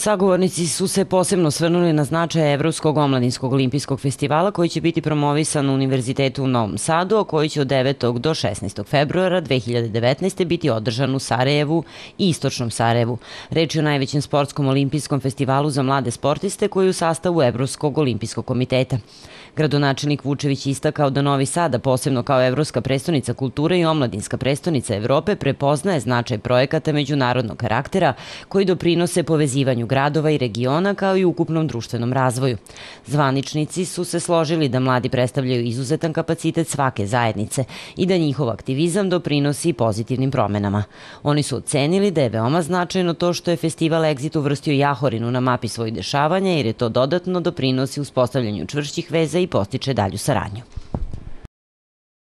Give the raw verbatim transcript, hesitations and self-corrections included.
Sagovornici su se posebno osvrnuli na značaj Evropskog omladinskog olimpijskog festivala koji će biti promovisan na Univerzitetu u Novom Sadu, a koji će od devetog do šesnaestog februara dve hiljade devetnaeste. biti održan u Sarajevu i Istočnom Sarajevu. Reč je o najvećem sportskom olimpijskom festivalu za mlade sportiste koji je u sastavu Evropskog olimpijskog komiteta. Gradonačelnik Vučević istakao da Novi Sad, a posebno kao evropska prestonica kulture i omladinska prestonica Evrope, prepoznaje značaj projekata međunarodnog karaktera koji doprinose povezivanju gradova i regiona kao i ukupnom društvenom razvoju. Zvaničnici su se složili da mladi predstavljaju izuzetan kapacitet svake zajednice i da njihov aktivizam doprinosi pozitivnim promenama. Oni su ocenili da je veoma značajno to što je festival Exit uvrstio Jahorinu na mapi svojih dešavanja jer je to dodatno doprinosi uspostavljanju čvršćih veza i postiče dalju saradnju.